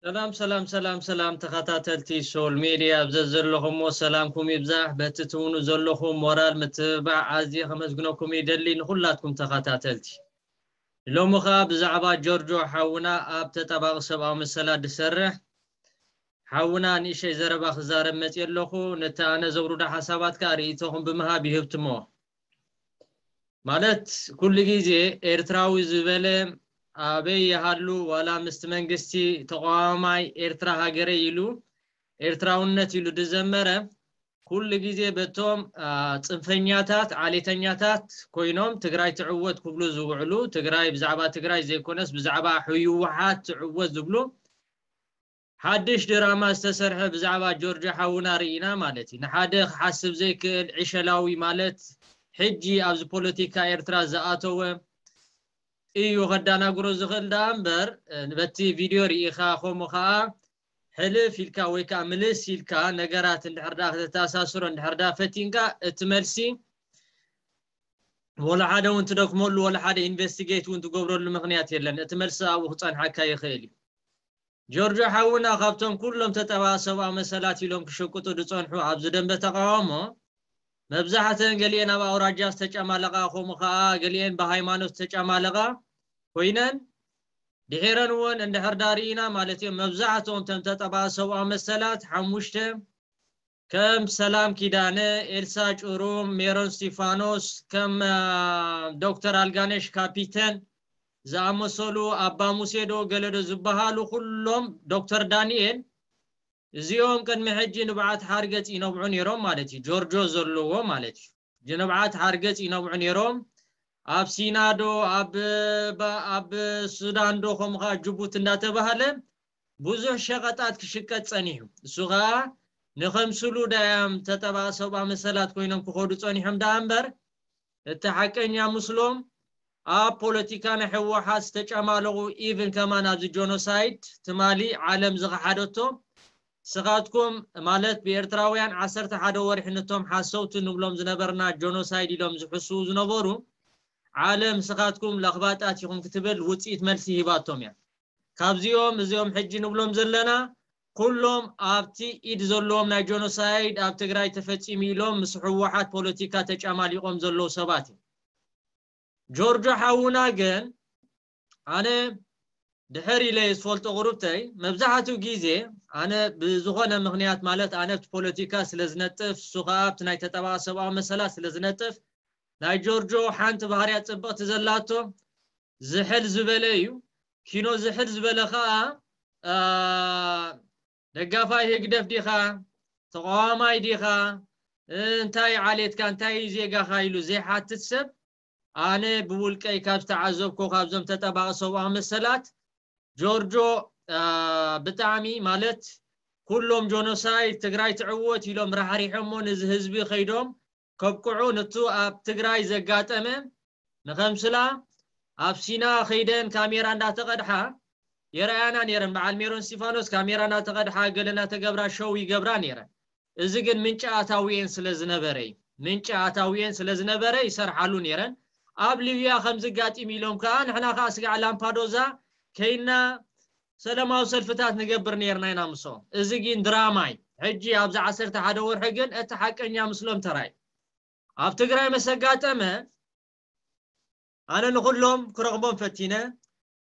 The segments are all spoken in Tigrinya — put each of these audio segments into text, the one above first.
ሰላም ሰላም ሰላም ሰላም፣ ተኸታተልቲ ሶል ሜድያ ኣብ ዘዘለኹምዎ ሰላምኩም ይብዛሕ። በቲ ትውኑ ዘለኹም ሞራል ምትብባዕ ኣዝየ ከመስግነኩም ይደሊ፣ ንኹላትኩም ተኸታተልቲ። ሎሚ ኸኣ ብዛዕባ ጆርጆ ሓውና ኣብ ተጣባቒ ሰብኣዊ መሰላት ዝሰርሕ ሓውና ንእሽተይ ዘረባ ክዛረብ መፅየ ኣለኹ። ነቲ ኣነ ዘውርዶ ሓሳባት ከኣ ርእይቶኹም ብምሃብ ይህብትሞ። ማለት ኩሉ ግዜ ኤርትራዊ ዝበለ ኣበይ ይሃሉ ዋላ ምስቲ መንግስቲ ተቃዋማይ ኤርትራ ሃገረይ ኢሉ ኤርትራውነት ኢሉ ዝዘመረ ኩሉ ግዜ በቶም ጽንፈኛታት ዓሌተኛታት ኮይኖም ትግራይ ትዕወት ክብሉ ዝውዕሉ፣ ትግራይ ብዛዕባ ትግራይ ዘይኮነስ ብዛዕባ ህወሓት ትዕወት ዝብሉ ሓድሽ ድራማ ዝተሰርሐ ብዛዕባ ጆርጆ ሓውና ርኢና ማለት እዩ። ንሓደ ክሓስብ ዘይክእል ዕሸላዊ ማለት ሕጂ ኣብዚ ፖለቲካ ኤርትራ ዝኣተወ እዩ ከዳናግሮ ዝኽእል ደኣ እምበር፣ በቲ ቪድዮ ርኢኻ ከምኡ ኸኣ ሕልፍ ኢልካ ወይ ከዓ ምልስ ኢልካ ነገራት እንድሕር ደኣ ከተተኣሳስሮ እንድሕር ደኣ ፈቲንካ እቲ መልሲ ወላ ሓደ እውን ትደክመሉ ወላ ሓደ ኢንቨስቲጌት እውን ትገብረሉ ምኽንያት የለን። እቲ መልሲ ኣብኡ ክጸንሓካ ይኽእል እዩ። ጆርጆ ሓውና ካብቶም ኩሎም ተጠባቂ ሰብኣዊ መሰላት ኢሎም ክሽቅጡ ዝጸንሑ ኣብዚ ደንበ ተቃውሞ መብዛሕተን ገሊኤን ኣብ ኣውራጃ ዝተጨማለቓ ከምኡ ኸኣ ገሊኤን ብሃይማኖት ዝተጨማለቓ ኮይነን ድሒረን እውን እንድሕር ዳርኢና ማለት እዮም መብዛሕትኦም ተም ተጠባቂ ሰብኣዊ መሰላት ሓሙሽተ ከም ሰላም ኪዳነ፣ ኤልሳ ጭሩም፣ ሜሮን ስቲፋኖስ፣ ከም ዶክተር ኣልጋነሽ ካፒተን ዝኣመሰሉ ኣባ ሙሴዶ ገለዶ ዝበሃሉ ኩሎም ዶክተር ዳንኤል እዚኦም ቅድሚ ሕጂ ንብዓት ሓርገጽ ይነብዑ ነይሮም ማለት እዩ። ጆርጆ ዘለዎ ማለት እዩ። ንብዓት ሓርገጽ ይነብዑ ነይሮም። ኣብ ሲናዶ ኣብ ኣብ ሱዳን ዶ ከምኡ ከዓ ጅቡቲ እንዳተባሃለ ብዙሕ ሸቐጣት ክሽቀጥ ጸኒሑ። እሱ ከዓ ንኸምስሉ ዳያም ተጠባቂ ሰብኣዊ መሰላት ኮይኖም ክኸዱ ጸኒሖም ደኣ እምበር እቲ ሓቀኛ ምስሎም ኣብ ፖለቲካ ናይ ህወሓት ዝተጨማለቑ ኢቭን ከማን ኣብዚ ጆኖሳይድ ትማሊ ዓለም ዝኸሓደቶ ስኻትኩም ማለት ብኤርትራውያን ዓሰርተ ሓደ ወርሒ ነቶም ሓሰውቲ ንብሎም ዝነበርና ጆኖሳይድ ኢሎም ዝሕስዉ ዝነበሩ ዓለም ስኻትኩም ለኽባጣት ኢኹም ክትብል ውፅኢት መልሲ ሂባቶም እያ። ካብዚኦም እዚኦም ሕጂ ንብሎም ዘለና ኩሎም ኣብቲ ኢድ ዘለዎም ናይ ጀኖሳይድ ኣብ ትግራይ ተፈጺሙ ኢሎም ምስ ህወሓት ፖለቲካ ተጫማሊቆም ዘለዉ ሰባት እዮም። ጆርጆ ሓውና ግን ኣነ ድሕር ኢለ ዝፈልጦ ቁሩብተይ መብዛሕትኡ ግዜ ኣነ ብዝኾነ ምኽንያት ማለት ኣነ ኣብቲ ፖለቲካ ስለ ዝነጥፍ እሱ ከዓ ኣብቲ ናይ ተጠባቂ ሰብኣዊ መሰላት ስለ ዝነጥፍ ናይ ጆርጆ ሓንቲ ባህርያ ጽብቕቲ ዘላቶ ዝሕል ዝበለ እዩ። ኪኖ ዝሕል ዝበለ ከዓ ደጋፋይ ህግደፍ ዲኻ ተቃዋማይ ዲኻ እንታይ ዓሌትካ እንታይ ዜጋኻ ኢሉ ዘይሓትት ሰብ ኣነ ብውልቀይ ካብ ዝተዓዘብኮ ካብዞም ተጠባቂ ሰብኣዊ መሰላት ጆርጆ ብጣዕሚ ማለት ኩሎም ጆኖሳይድ ትግራይ ትዕወት ኢሎም ራሕሪሖሞ ነዚ ህዝቢ ከይዶም ከብቅዑ ነቱ ኣብ ትግራይ ዘጋጠመ ንኸምስላ ኣብ ሲና ከይደን ካሜራ እንዳተቐድሓ የረኣያና ነይረን። በዓል ሜሮን እስቲፋኖስ ካሜራ እንዳተቐድሓ ገለ እንዳተገብራ ሸው ይገብራ ነይረን። እዚ ግን ምንጪ ኣታዊኤን ስለ ዝነበረ እዩ። ምንጪ ኣታዊኤን ስለ ዝነበረ ይሰርሓሉ ነይረን። ኣብ ሊብያ ከምዚ ጋጢም ኢሎም ከዓ ንሕና ከዓ ስጋዕ ላምፓዶዛ ከይና ሰላማዊ ሰልፍታት ንገብር ነይርና ኢና ምስኦም። እዚ ግን ድራማ እዩ። ሕጂ ኣብዚ ዓሰርተ ሓደ ወርሒ ግን እቲ ሓቀኛ ምስሎም ተራይ ኣብ ትግራይ መሰጋጠመ ኣነ ንኹሎም ክረኽቦም ፈቲነ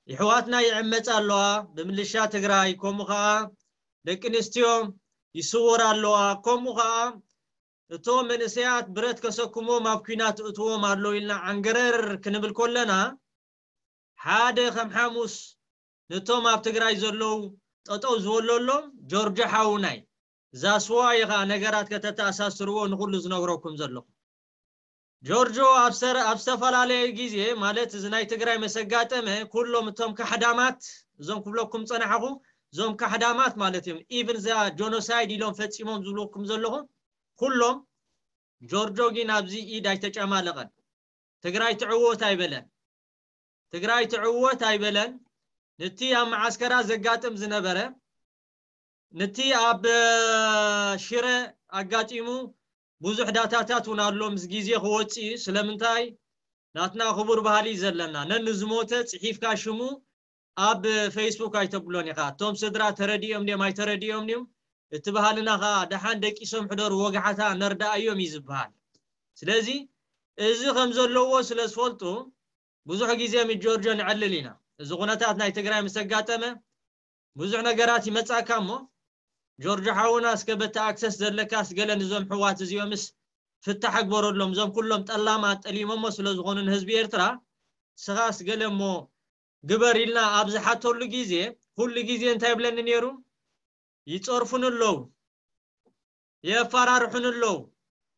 ይሕዋትና ይዕመፃ ኣለዋ ብምልሻ ትግራይ ከምኡ ከዓ ደቂ ኣንስትዮ ይስወር ኣለዋ ከምኡ ከዓ እቶም መንእሰያት ብረት ከሰክሞም ኣብ ኲናት እትዎም ኣሎ ኢልና ዓንገረር ክንብል ከለና ሓደ ከም ሓሙስ ነቶም ኣብ ትግራይ ዘለዉ ጠጠው ዝበለሎም ጆርጆ ሓውናይ ዛስዋ ኢኻ ነገራት ከተተኣሳስርዎ ንኹሉ ዝነግረኩም ዘለኹ ጆርጆ ኣብ ዝተፈላለየ ግዜ ማለት እዚ ናይ ትግራይ መሰጋጠመ ኩሎም እቶም ካሕዳማት እዞም ክብለኩም ፀናሕኹ እዞም ካሕዳማት ማለት እዮም ኢቭን እዛ ጆኖሳይድ ኢሎም ፈፂሞም ዝብለኩም ዘለኹ ኩሎም ጆርጆ ግን ኣብዚ ኢድ ኣይተጨማለቐን ትግራይ ትዕወት ኣይበለን ትግራይ ትዕወት ኣይበለን ንቲ ኣብ መዓስከራ ዘጋጥም ዝነበረ ንቲ ኣብ ሽረ ኣጋጢሙ ብዙሕ ዳታታት እውን ኣሎ ምስ ግዜ ክወፅእ እዩ ስለምንታይ ናትና ክቡር ባህሊ እዩ ዘለና ነንዝሞተ ፅሒፍካ ሽሙ ኣብ ፌስቡክ ኣይተብሎን ኢኻ። እቶም ስድራ ተረዲኦም ድዮም ኣይተረዲኦም ድዮም? እቲ ባህልና ኸዓ ደሓን ደቂሶም ሕደሩ ወግሓታ ነርዳኣዮም እዩ ዝበሃል። ስለዚ እዚ ከም ዘለዎ ስለ ዝፈልጡ ብዙሕ ግዜ ምስ ጆርጆ ንዕልል ኢና። እዚ ኩነታት ናይ ትግራይ ምስ ኣጋጠመ ብዙሕ ነገራት ይመጻካ እሞ ጆርጆ ሓውና እስከ በቲ ኣክሰስ ዘለካስ ገለ ንዞም ሕዋት እዚኦምስ ፍታሕ ግበረሎም። እዞም ኩሎም ጠላማት ጠሊሞሞ ስለ ዝኾኑ ንህዝቢ ኤርትራ ስኻስ ገለ እሞ ግበር ኢልና ኣብ ዝሓተሉ ግዜ ኩሉ ግዜ እንታይ ይብለኒ ነይሩ? ይጸርፉን ኣለዉ፣ የፋራርሑን ኣለዉ።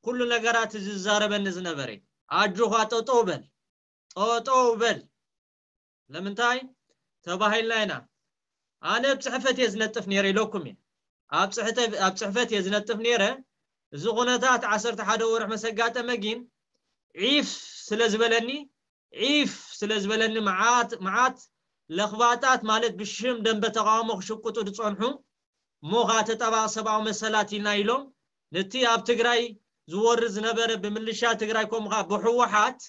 ኩሉ ነገራት እዚ ዝዛረበኒ ዝነበረ ኣጆኻ ጠጠው በል፣ ጠጠው በል። ለምንታይ ተባሂልና ኢና? ኣነ ኣብ ጽሕፈት እየ ዝነጥፍ ነይረ ኢለኩም እየ። ኣብ ጽሕተ- ኣብ ጽሕፈት እየ ዝነጥፍ ነይረ። እዚ ኩነታት ዓሰርተ ሓደ ወርሒ መሰጋጠመ ግን ዒፍ ስለ ዝበለኒ ዒፍ ስለ ዝበለኒ መዓት መዓት ለኽባጣት ማለት ብሽም ደንበ ተቃውሞ ክሽቅጡ ዝጸንሑ እሞ ኸዓ ተጣባቂ ሰብኣዊ መሰላት ኢልና ኢሎም ነቲ ኣብ ትግራይ ዝወርድ ዝነበረ ብምልሻ ትግራይ ከምኡ ኸዓ ብህወሓት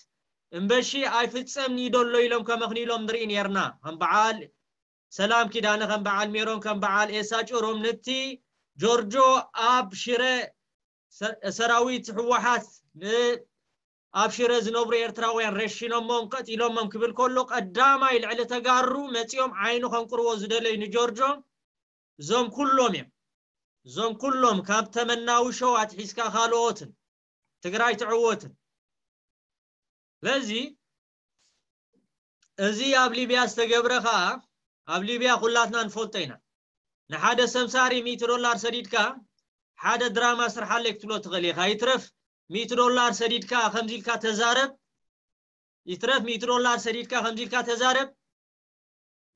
እምበሺ ኣይፍጸምን እዩ ደሎ ኢሎም ከመኽንይሎም ንርኢ ነርና። ከም በዓል ሰላም ኪዳነ፣ ከም በዓል ሜሮን፣ ከም በዓል ኤሳ ጭሮም ነቲ ጆርጆ ኣብ ሽረ ሰ- ሰራዊት ህወሓት ን- ኣብ ሽረ ዝነብሩ ኤርትራውያን ረሺኖሞም ቀጢሎሞም ክብል ከሎ ቀዳማይ ልዕሊ ተጋሩ መጺኦም ዓይኑ ከንቁርዎ ዝደለዩ ንጆርጆ እዞም ኩሎም እዮም። እዞም ኩሎም ካብ ተመናዊ ሸው ኣትሒዝካ ካልኦትን ትግራይ ትዕወትን። ስለዚ እዚ ኣብ ሊብያ ዝተገብረ ኸዓ ኣብ ሊብያ ኩላትና ንፈልጦ ኢና። ንሓደ ሰምሳሪ ሚእቲ ዶላር ሰዲድካ ሓደ ድራማ ስርሓለይ ክትብሎ ትኽእል ኢኻ። ይትረፍ ሚእቲ ዶላር ሰዲድካ ከምዚ ኢልካ ተዛረብ፣ ይትረፍ ሚእቲ ዶላር ሰዲድካ ከምዚ ኢልካ ተዛረብ፣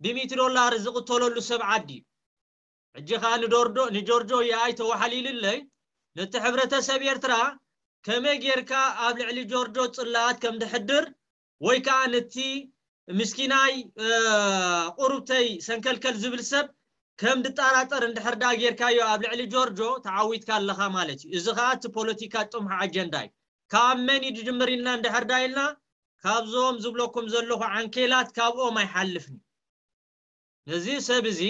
ብሚእቲ ዶላር ዝቕተለሉ ሰብ ዓዲ እዩ። ሕጂ ኸዓ ንዶርዶ ንጆርጆ ይኣይ ተዋሓሊልለይ ነቲ ሕብረተሰብ ኤርትራ ከመይ ጌርካ ኣብ ልዕሊ ጆርጆ ጽላኣት ከም ድሕድር ወይ ከዓ ነቲ ምስኪናይ ቁሩብተይ ሰንከልከል ዝብል ሰብ ከም ድጠራጠር እንድሕር ዳ ጌርካዮ ኣብ ልዕሊ ጆርጆ ተዓዊትካ ኣለኻ ማለት እዩ። እዚ ከዓ እቲ ፖለቲካ ጥሙሕ ኣጀንዳ እዩ። ካብ መን እዩ ዝጅምር ኢልና እንድሕር ዳ ኢልና ካብዞም ዝብለኩም ዘለኹ ዓንኬላት ካብኦም ኣይሓልፍን። ነዚ ሰብ እዚ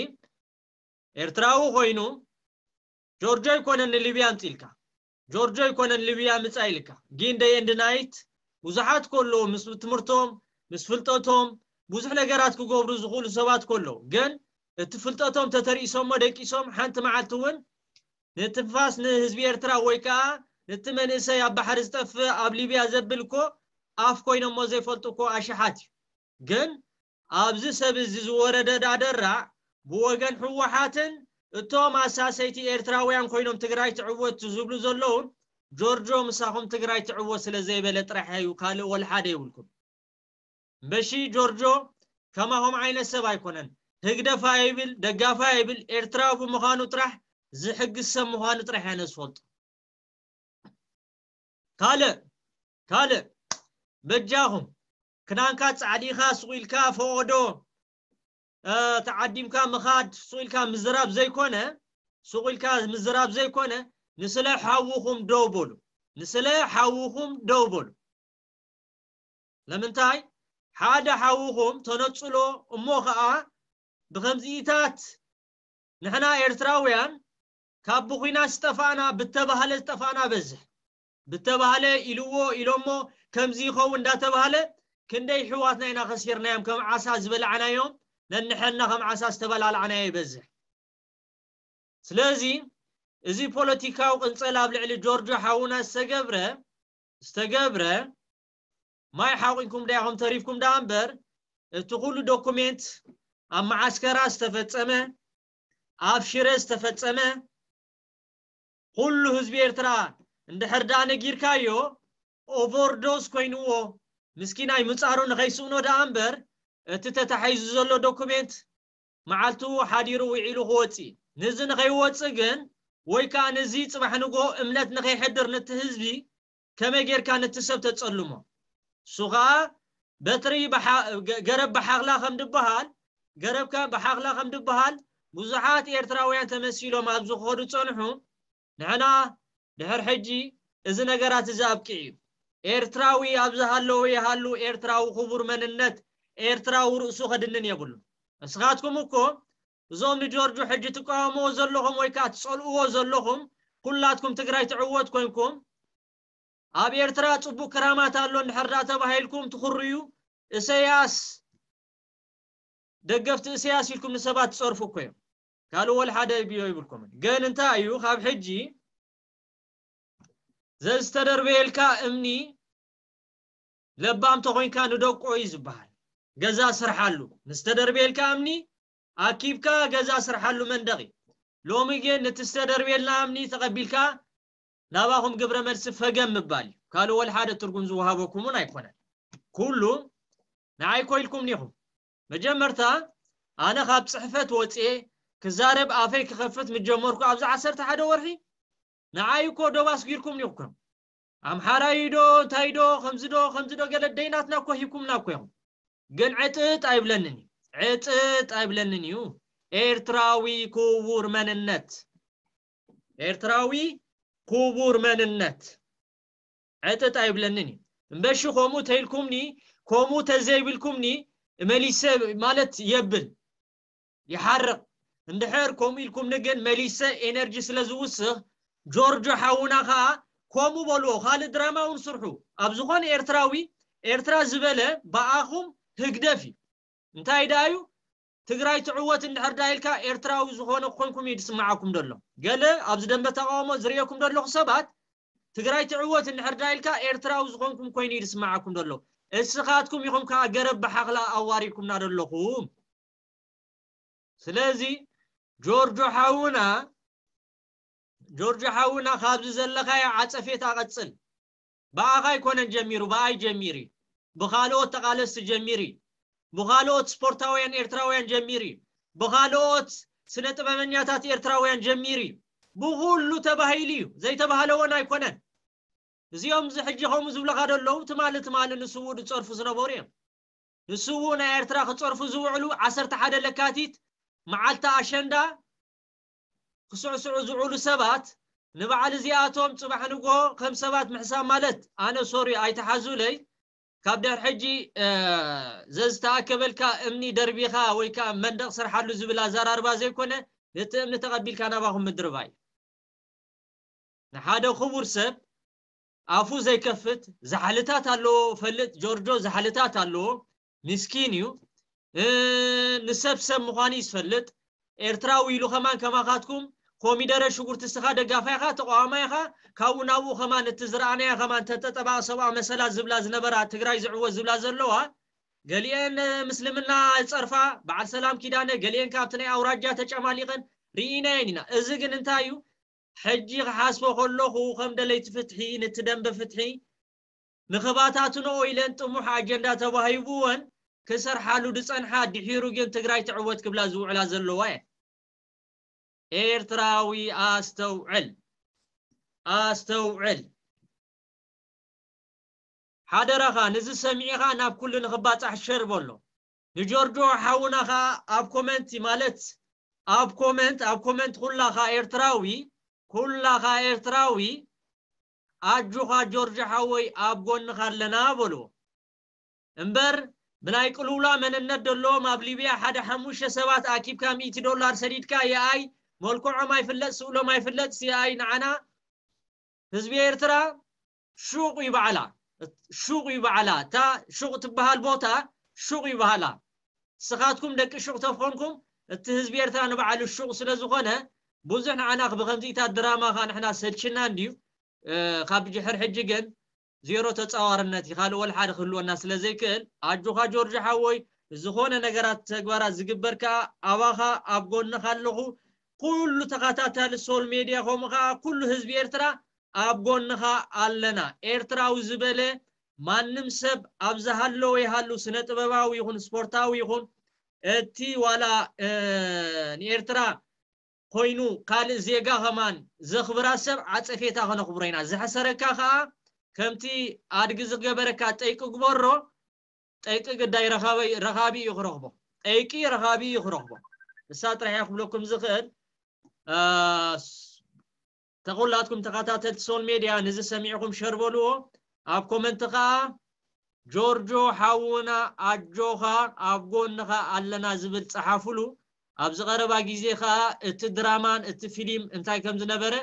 ኤርትራዊ ኮይኑ ጆርጆ ኣይኮነን ንሊብያ ኣምፂልካ፣ ጆርጆ ኣይኮነን ሊብያ ምፃ ኢልካ። ግን ደይ ኤንድ ናይት ብዙሓት ከለዉ ምስ ትምህርቶም ምስ ፍልጠቶም ብዙሕ ነገራት ክገብሩ ዝኽእሉ ሰባት ከለዉ ግን እቲ ፍልጠቶም ተተርኢሶሞ ደቂሶም ሓንቲ መዓልቲ እውን ንትንፋስ ንህዝቢ ኤርትራ ወይ ከዓ ነቲ መንእሰይ ኣብ ባሕሪ ዝጠፍእ ኣብ ሊብያ ዘብል እኮ ኣፍ ኮይኖሞ ዘይፈልጡ እኮ ኣሽሓት እዩ። ግን ኣብዚ ሰብ እዚ ዝወረደ ዳደራዕ ብወገን ህወሓትን እቶም ኣሳሰይቲ ኤርትራውያን ኮይኖም ትግራይ ትዕወት ዝብሉ ዘለዉ ጆርጆ ምሳኹም ትግራይ ትዕወት ስለ ዘይበለ ጥራሕ እዩ፣ ካልእ ወልሓደ ይብልኩም። እምበሺ ጆርጆ ከማኹም ዓይነት ሰብ ኣይኮነን። ህግደፍ ኣይብል ደጋፋ ኣይብል ኤርትራዊ ብምዃኑ ጥራሕ ዝሕግዝ ሰብ ምዃኑ ጥራሕ እያ ነዝፈልጦ። ካልእ ካልእ በጃኹም ክዳንካ ጻዕዲኻ ስቑ ኢልካ ፈቐዶ ተዓዲምካ ምኻድ ስቑ ኢልካ ምዝራብ ዘይኮነ ስቑ ኢልካ ምዝራብ ዘይኮነ ንስለ ሓውኹም ደው በሉ። ንስለ ሓውኹም ደው በሉ። ለምንታይ ሓደ ሓውኹም ተነጽሎ እሞ ኸኣ ብኸምዚኢታት ንሕና ኤርትራውያን ካብ ብኹናት ዝጠፋእና ብተባህለ ዝጠፋእና በዝሕ ብተባህለ ኢልዎ ኢሎሞ ከምዚ ይኸውን እንዳተባህለ ክንደይ ሕዋትና ኢና ከሲርናዮም ከም ዓሳ ዝበላዕናዮም ነንሕና ከም ዓሳ ዝተበላላዕናዮ ይበዝሕ። ስለዚ እዚ ፖለቲካዊ ቅንጸል ኣብ ልዕሊ ጆርጆ ሓውና ዝተገብረ ዝተገብረ ማይ ሓቂንኩም ዳይኹም ተሪፍኩም ደኣ እምበር እቲ ኩሉ ዶኩሜንት ኣብ መዓስከራ ዝተፈጸመ ኣብ ሽረ ዝተፈጸመ ኩሉ ህዝቢ ኤርትራ እንድሕር ደኣ ነጊርካዮ ኦቨርዶዝ ኮይንዎ ምስኪናይ ምጻሩ ንኸይስእኖ ደኣ እምበር እቲ ተታሒዙ ዘሎ ዶኩሜንት መዓልቱ ሓዲሩ ውዒሉ ክወጽእ እዩ። ንዚ ንኸይወጽእ ግን ወይ ከዓ ንዚ ጽባሕ ንጎ እምነት ንኸይሕድር ነቲ ህዝቢ ከመይ ጌርካ ነቲ ሰብ ተጸልሞ? እሱ ኸዓ በትሪ ገረብ ብሓኽላ ከም ድበሃል ገረብካ ብሓኽላ ከም ድበሃል ብዙሓት ኤርትራውያን ተመሲሎም ኣብ ዝኸዱ ጸንሑ። ንሕና ድሕር ሕጂ እዚ ነገራት እዚ ኣብቂዑ እዩ። ኤርትራዊ ኣብ ዝሃለወ ይሃሉ ኤርትራዊ ክቡር መንነት ኤርትራዊ ርእሱ ከድንን የብሉ። ንስኻትኩም እኮ እዞም ንጆርጆ ሕጂ ትቃወምዎ ዘለኹም ወይ ከዓ ትጸልእዎ ዘለኹም ኩላትኩም ትግራይ ትዕወት ኮንኩም ኣብ ኤርትራ ጽቡቅ ክራማት ኣሎ እንድሕር ዳ ተባሂልኩም ትኽርዩ እሰያስ ደገፍቲ እሰያስ ኢልኩም ንሰባት ትጸርፉ እኮ እዮም። ካልእ ወላ ሓደ ቢዮ ይብልኩምን። ግን እንታይ እዩ ካብ ሕጂ ዘዝተደርበየልካ እምኒ ለባም ተኾይንካ ንደቆ እዩ ዝበሃል። ገዛ ስርሓሉ። ንዝተደርበየልካ እምኒ ኣኪብካ ገዛ ስርሓሉ መንደቕ እዩ። ሎሚ ግን ነቲ ዝተደርበየልና እምኒ ተቐቢልካ ናባኹም ግብረ መልሲ ፈገም ምባል እዩ። ካልእ ወላ ሓደ ትርጉም ዝወሃበኩም እውን ኣይኮነን። ኩሉ ንዓይ ኮ ኢልኩም ኒኹም። መጀመርታ ኣነ ካብ ጽሕፈት ወጽኤ ክዛረብ ኣፈይ ክኸፍት ምጀመርኩ ኣብዚ ዓሰርተ ሓደ ወርሒ ንዓይ እኮ ዶብ ኣስጊርኩም ኒኹም። ኣምሓራይ ዶ እንታይ ዶ ከምዚ ዶ ከምዚ ዶ ገለ ደይናትና እኮ ሂብኩምና እኮ ኢኹም። ግን ዕጥጥ ኣይብለንን እዩ። ዕጥጥ ኣይብለንን እዩ። ኤርትራዊ ክቡር መንነት ኤርትራዊ ክቡር መንነት ዕጥጥ ኣይብለንን እዩ። እምበሺ ከምኡ ተይልኩምኒ ከምኡ ተዘይብልኩምኒ መሊሰ ማለት የብል ይሓርቕ። እንድሕር ከምኡ ኢልኩምኒ ግን መሊሰ ኤነርጂ ስለ ዝውስኽ ጆርጆ ሓውና ከዓ ከምኡ በልዎ። ካልእ ድራማ እውን ስርሑ። ኣብ ዝኾነ ኤርትራዊ ኤርትራ ዝበለ ብኣኹም ህግደፍ እዩ። እንታይ ደኣ እዩ ትግራይ ትዕወት እንድሕር ዳ ኢልካ ኤርትራዊ ዝኾነ ኮይንኩም እዩ ዝስምዓኩም ዘሎ። ገለ ኣብዚ ደንበ ተቃውሞ ዝርእየኩም ዘለኹ ሰባት ትግራይ ትዕወት እንድሕር ዳ ኢልካ ኤርትራዊ ዝኾንኩም ኮይኑ እዩ ዝስምዓኩም ዘሎ። እስኻትኩም ኢኹም ከዓ ገረብ ብሓኽላ ኣዋሪድኩምና ዘለኹም። ስለዚ ጆርጆ ሓውና ጆርጆ ሓውና ካብዚ ዘለኻዮ ዓጸፌታ ቀጽል። ብኣኻ ኣይኮነን ጀሚሩ፣ ብኣይ ጀሚሩ እዩ። ብኻልኦት ተቓለስቲ ጀሚሩ እዩ። ብኻልኦት ስፖርታውያን ኤርትራውያን ጀሚሩ እዩ። ብኻልኦት ስነ ጥበበኛታት ኤርትራውያን ጀሚሩ እዩ። ብኹሉ ተባሂሉ እዩ። ዘይተባህለ እውን ኣይኮነን። እዚኦም እዚ ሕጂ ከምኡ ዝብለኻ ዘለዉ ትማሊ ትማሊ ንስዉ ዝጸርፉ ዝነበሩ እዮም። ንስዉ ናይ ኤርትራ ክጸርፉ ዝውዕሉ ዓሰርተ ሓደ ለካቲት መዓልቲ ኣሸንዳ ክስዕስዑ ዝውዕሉ ሰባት ንበዓል እዚኣቶም ጽባሕ ንግሆ ከም ሰባት ምሕሳብ ማለት ኣነ ሶሪ ኣይተሓዙለይ ካብ ድሕር ሕጂ ዘዝተኣከበልካ እምኒ ደርቢኻ ወይ ከዓ መንደቕ ስርሓሉ ዝብል ኣዘራርባ ዘይኮነ ነቲ እምኒ ተቐቢልካ ናባኹም ምድርባይ ንሓደ ክቡር ሰብ ኣፉ ዘይከፍት ዛሕልታት ኣለዎ ፈልጥ ጆርጆ ዛሕልታት ኣለዎ ምስኪን እዩ ንሰብ ሰብ ምዃኑ እዩ ዝፈልጥ ኤርትራዊ ኢሉ ከማን ከማኻትኩም ኮሚደረ ሽጉርቲ ስኻ ደጋፋይኻ ተቋዋማይኻ ካብኡ ናብኡ ከማን እቲ ዝረኣናያ ከማን ተጠጠባ ሰብኣ መሰላ ዝብላ ዝነበራ ትግራይ ዝዕወት ዝብላ ዘለዋ ገሊአን ምስልምና ጸርፋ በዓል ሰላም ኪዳነ ገሊአን ካብቲ ናይ ኣውራጃ ተጨማሊቐን ርኢናየን ኢና እዚ ግን እንታይ እዩ ሕጂ ክሓስቦ ከለኹ ከም ደለይቲ ፍትሒ ነቲ ደንበ ፍትሒ ንኽባታትንኦ ኢለን ጥሙሕ ኣጀንዳ ተዋሂብወን ክሰርሓሉ ዝጸንሓ ድሒሩ ግን ትግራይ ትዕወት ክብላ ዝውዕላ ዘለዋ እየን። ኤርትራዊ ኣስተውዕል ኣስተውዕል ሓደራኻ ነዚ ሰሚዕኻ ናብ ኩሉ ንኽባጻሕ ሸር በሎ ንጆርጆ ሓውና ኸኣ ኣብ ኮመንት ማለት ኣብ ኮመንት ኣብ ኮመንት ኩላኻ ኤርትራዊ ኩላኻ ኤርትራዊ ኣጆኻ ጆርጆ ሓወይ ኣብ ጎንኻ ኣለና በልዎ እምበር ብናይ ቅልውላ መንነት ዘለዎም ኣብ ሊብያ ሓደ ሓሙሽተ ሰባት ኣኪብካ ሚእቲ ዶላር ሰዲድካ የኣይ መልክዖም ኣይፍለጥ ስእሎም ኣይፍለጥ የኣይ ንዓና ህዝቢ ኤርትራ ሹቕ ይበዓላ ሹቕ ይበዓላ እታ ሹቕ ትበሃል ቦታ ሹቕ ይበሃላ ስኻትኩም ደቂ ሹቕ ተኾንኩም እቲ ህዝቢ ኤርትራ ንበዓሉ ሹቕ ስለ ዝኾነ ብዙሕ ንዓና ብከምዚኢታት ድራማ ኻ ንሕና ሰልችና እንድዩ ካብ ድሕር ሕጂ ግን ዜሮ ተጻዋርነት እዩ ካልእ ወላ ሓደ ክህልወና ስለ ዘይክእል ኣጆኻ ጆርጆ ሓወይ ዝኾነ ነገራት ተግባራት ዝግበር ከኣ ኣባኻ ኣብ ጎንኻ ኣለኹ ኩሉ ተኸታታሊ ሶል ሜድያ ከምኡ ከኣ ኩሉ ህዝቢ ኤርትራ ኣብ ጎንኻ ኣለና ኤርትራዊ ዝበለ ማንም ሰብ ኣብ ዝሃለወ ይሃሉ ስነ ጥበባዊ ይኹን ስፖርታዊ ይኹን እቲ ዋላ ንኤርትራ ኮይኑ ካልእ ዜጋ ከማን ዘኽብራ ሰብ ዓጸፌታ ከነኽብሮ ኢና ዝሐሰረካ ከኣ ከምቲ ኣድጊ ዝገበረካ ጠይቂ ግበሮ ጠይቂ ግዳይ ረኻቢ እዩ ክረኽቦ ጠይቂ ረኻቢ እዩ ክረኽቦ እሳ ጥራሕ እያ ክብለኩም ዝኽእል ተኹላትኩም ተኸታተልቲ ሶል ሜድያ ንዚ ሰሚዕኹም ሸር በልዎ ኣብ ኮመንት ከኣ ጆርጆ ሓውና ኣጆኻ ኣብ ጎንኻ ኣለና ዝብል ጸሓፉሉ። ኣብዚ ቀረባ ግዜ ከኣ እቲ ድራማን እቲ ፊልም እንታይ ከም ዝነበረ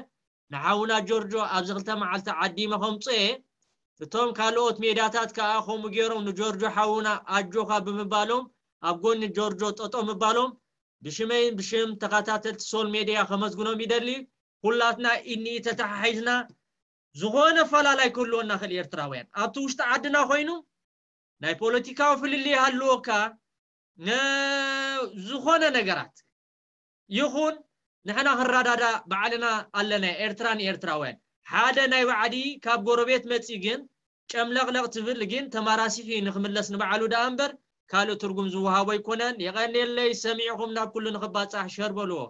ንሓውና ጆርጆ ኣብዚ ክልተ መዓልቲ ዓዲመ ከምጽኦ እየ። እቶም ካልኦት ሜድያታት ከኣ ከምኡ ገይሮም ንጆርጆ ሓውና ኣጆኻ ብምባሎም ኣብ ጎኒ ጆርጆ ጠጠው ምባሎም ብሽመይን ብሽም ተኸታተልቲ ሶል ሜድያ ከመስግኖም ይደሊ። ኩላትና ኢኒ ተተሓሒዝና ዝኾነ ፈላላይ ክህልወና ክእል ኤርትራውያን ኣብቲ ውሽጢ ዓድና ኮይኑ ናይ ፖለቲካዊ ፍልልይ ይሃልወካ ዝኾነ ነገራት ይኹን ንሕና ክረዳዳ ባዕልና ኣለና። ኤርትራ ንኤርትራውያን ሓደ ናይ ባዕዲ ካብ ጎረቤት መፂ ግን ጨምለቕለቕ ትብል ግን ተማራሲፊ ንክምለስ ንባዕሉ ደኣ እምበር ካልእ ትርጉም ዝወሃቦ ኣይኮነን። የቐንየለይ ሰሚዕኹም ናብ ኩሉ ንክባፃሕ ሸር በልዎ።